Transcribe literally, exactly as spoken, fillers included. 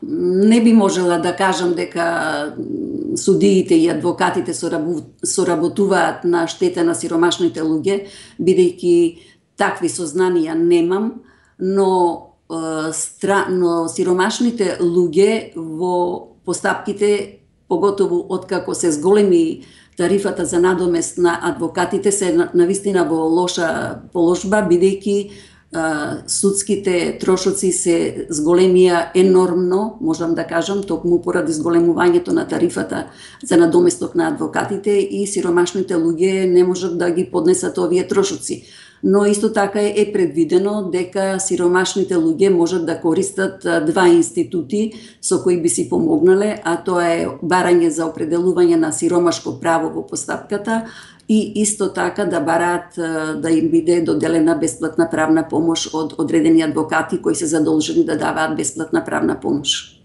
не би можела да кажам дека судиите и адвокатите соработуваат на штета на сиромашните луѓе, бидејќи такви сознанија немам, но но сиромашните луѓе во постапките, поготово откако се зголеми тарифата за надомест на адвокатите, се навистина во лоша положба, бидејќи судските трошоци се зголемија енормно, можам да кажам, токму поради зголемувањето на тарифата за надоместок на адвокатите, и сиромашните луѓе не можат да ги поднесат овие трошоци. Но исто така е предвидено дека сиромашните луѓе можат да користат два институти со кои би си помогнале, а тоа е барање за определување на сиромашко право во постапката и исто така да бараат да им биде доделена бесплатна правна помош од одредени адвокати кои се задолжени да даваат бесплатна правна помош.